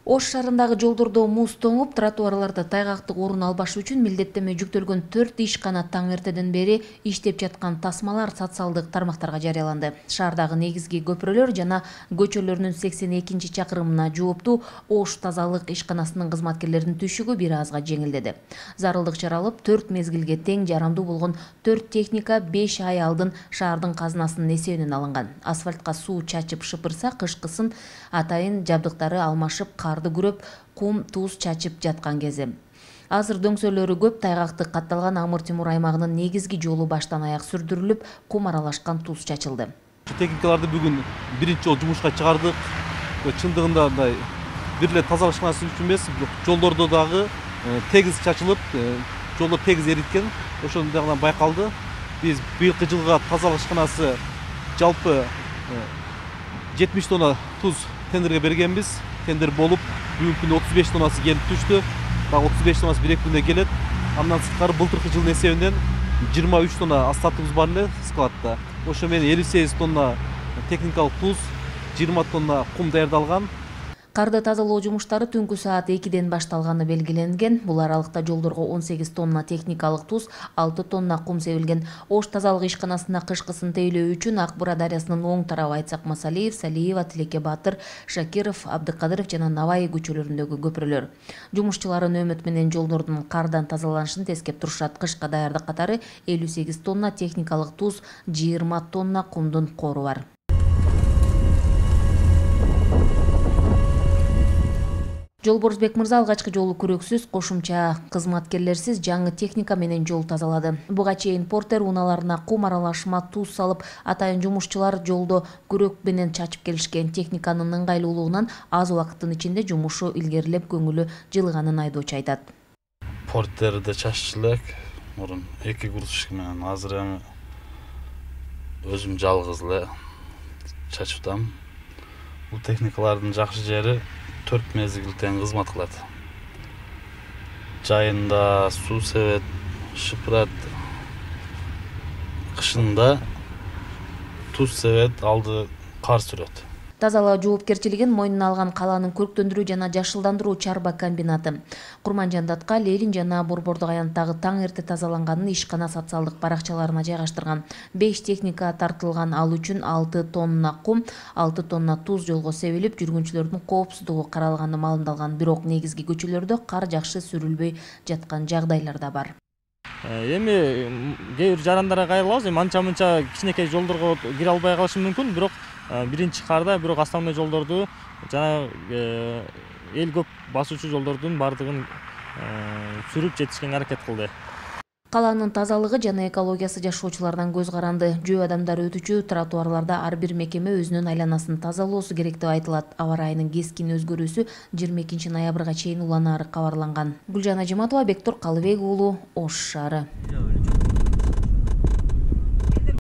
Ош шаарындагы жолдордо муз тоңуп, тротуарларда тайгактык орун албаш үчүн милдеттеме жүктөлгөн 4 ишкана таң эртеден бери иштеп жаткан тасмалар социалдык тармактарга жарыяланды. Шаардагы негизги көпүрөлөр жана көчөлөрүнүн 82 чакырымына жооптуу Ош тазалык ишканасынын кызматкерлеринин түшүгү бир азга жеңилдеди. Зарылдык чара алып, 4 мезгилге тең жарамдуу болгон 4 техника 5 ай алдын шаардын казынасынын эсебинен алынган. Асфальтка суу чачып шыпырса, кышкысын атайын жабдыктары алмашып, карды күрөп, кум, туз чачып жаткан кези. Азыр дөңсөлөрү көп, тайгактык катталган Амыр-Темур аймагынын негизги жолу баштан аяк сүрдүрүлүп, кум аралашкан туз чачылды. Техникаларды бүгүн биринчи жолу жумушка чыгардык. Чындыгында мындай бир эле тазалык ишканасы үчүн эмес, жолдордо дагы тегиз чачылып, жолдор тегиз эриткен. Ошондой дагы байкалды. Биз быйылкы жылга тазалык ишканасы жалпы 70 тонна туз тендерге бергенбиз. Тендер болуп, бүгүнкү күндө 35 тоннасы келип түштү. Дагы 35 тоннасы 1-2 күндө келет. Андан сырткары былтыркы жылдын эсебинен 23 тонна астатыбыз бар эле складта. Ошо менен 58 тонна техникалык туз, 20 тонна кум даярдалган. Карды тазалоо жумуштары түнкү саат 2-ден башталганы белгиленген. Бул аралыкта жолдорго 18 тонна техникалык туз, 6 тонна кум себилген. Ош тазалык ишканасына кышкысын тейлөө үчүн Ак Бура дарыясынын оң тарабы Айтсак Масалиев, Салиева, Тилеке Батыр, Шакиров, Абдыкадыров жана Наваи көчөлөрүндөгү көпүрөлөр. Жумушчулары нөөмөт менен жолдордун кардан тазаланышын тескеп турушат. Кышка даярдык катары 58 тонна техникалык туз, 20 тонна кумдун кору бар. Жолборузбек мырза алгачкы жолу күрөксүз, кошумча кызматкерлерсиз жаңы техника менен жол тазалады. Буга чейин портер унааларына кум аралашма туз салып, атайын жумушчулар жолдо күрөк менен чачып келишкен. Техниканын ыңгайлуулугунан аз убакыттын ичинде жумушу илгерилеп, көңүлү жылыганын айдоочу айтат. Портерде чаччу элек, мурун 2 грузчик менен, азыр эми өзүм жалгыз эле чачып атам. Бул техникалардын жакшы жери 4 мезгил тең кызмат кылат. Жайында суу себет, шыпырат. Кышында туз себет, алды кар сүрөт. Тазалоо жоопкерчилигин мойнуна алган калаанын көрктөндүрүү жана жашылдандыруу чарба комбинаты. Курманжандатка, Лелин жана Борбордук аянттагы таң эрте тазаланганын ишкана социалдык баракчаларына жайгаштырган. 5 техника тартылган, ал үчүн 6 тонна кум, 6 тонна туз жолго себилип, жүргүнчүлөрдүн коопсуздугу каралганы маалымдалган. Бирок негизги көчөлөрдө кар жакшы сүрүлбөй жаткан жагдайлар да бар. Эми кээ бир жарандарга кайрылабыз, эми анча-мынча кичинекей жолдорго кире албай калышы мүмкүн, бирок биринчи карда бирок основной жолдорду жана эл көп басуучу жолдордун бардыгын сүрүп жетишкенге аракет кылды. Калаанын тазалыгы жана экологиясы жашоочулардан көз каранды. Жөө адамдар өтүчү тротуарларда ар бир мекеме өзүнүн айланасын тазалоосу керек деп айтылат. Аба ырайынын кескин өзгөрүүсү 22 ноябрга чейин уланаары кабарланган. Гүлжан Ажиматова, Бектур Калыбек уулу, Ош шаары.